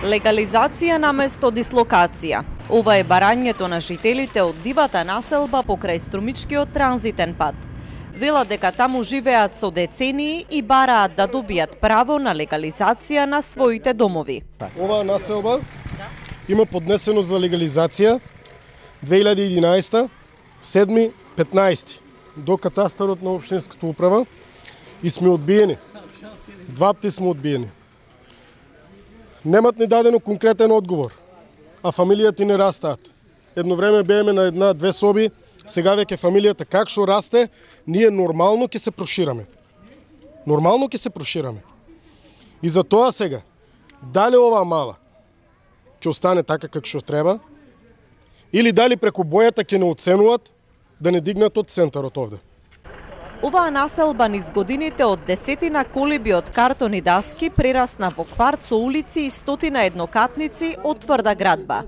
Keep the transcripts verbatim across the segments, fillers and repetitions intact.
Легализација наместо дислокација. Ова е барањето на жителите од дивата населба покрај Струмичкиот транзитен пат. Велат дека таму живеат со децении и бараат да добијат право на легализација на своите домови. Оваа населба има поднесено за легализација две илјади и единаесета, седми петнаесети до катастарот на општинската управа и сме одбиени. Два пати сме одбиени. Немат ни дадено конкретен одговор, а фамилијата не растаат. Едно време бееме на една-две соби, сега веќе фамилијата как што расте, ние нормално ќе се прошираме. Нормално ќе се прошираме. И за тоа сега, дали оваа мала ќе остане така како што треба, или дали преку бојата ќе не оценуваат да не дигнат од центарот овде. Оваа населба низ годините од десетина колиби од картони даски прерасна во кварт со улици и стотина еднокатници од тврда градба.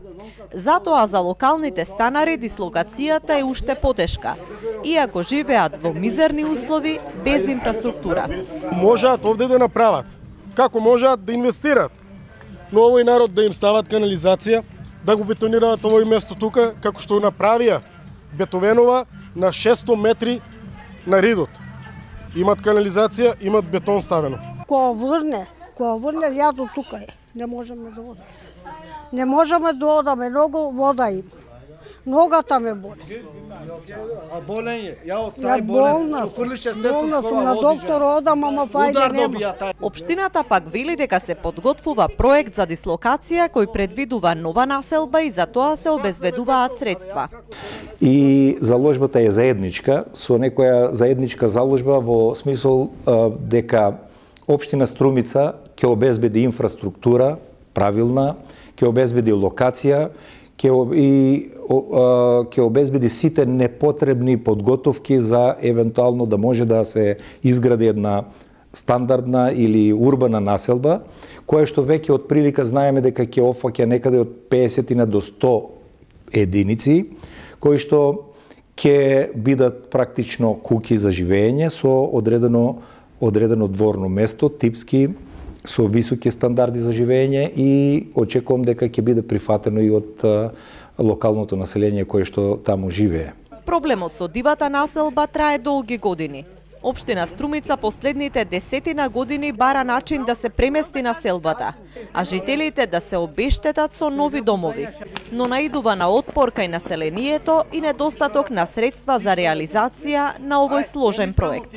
Затоа за локалните станари дислокацијата е уште потешка, иако живеат во мизерни услови без инфраструктура. Можат овде да направат, како можат да инвестират, но овој народ да им стават канализација, да го бетонираат овој место тука, како што направија Бетовенова на шесто метри на ридот. Имат канализација, имат бетон ставено. Кога врне, кога врне јадо тука е. Не можеме да одиме. Не можеме да одаме, многу вода има. Ногата ме боли. А болен е? Ја од тај болен. Болна сум на доктор, одам, ама фајде нема. Општината пак вели дека се подготвува проект за дислокација кој предвидува нова населба и за тоа се обезбедуваат средства. И заложбата е заедничка, со некоја заедничка заложба во смисол дека општина Струмица ќе обезбеди инфраструктура правилна, ќе обезбеди локација, ќе и ќе обезбеди сите непотребни подготовки за евентуално да може да се изгради една стандардна или урбана населба, која што веќе од прилика знаеме дека ќе офаќа некаде од песет до сто единици, кои што ќе бидат практично куќи за живење со одредено одредено дворно место, типски со високи стандарди за живење и очекувам дека ќе биде прифатено и од локалното население кое што таму живее. Проблемот со дивата населба трае долги години. Општина Струмица последните десетина години бара начин да се премести населбата, а жителите да се обештетат со нови домови, но наидува на отпор кај населението и недостаток на средства за реализација на овој сложен проект.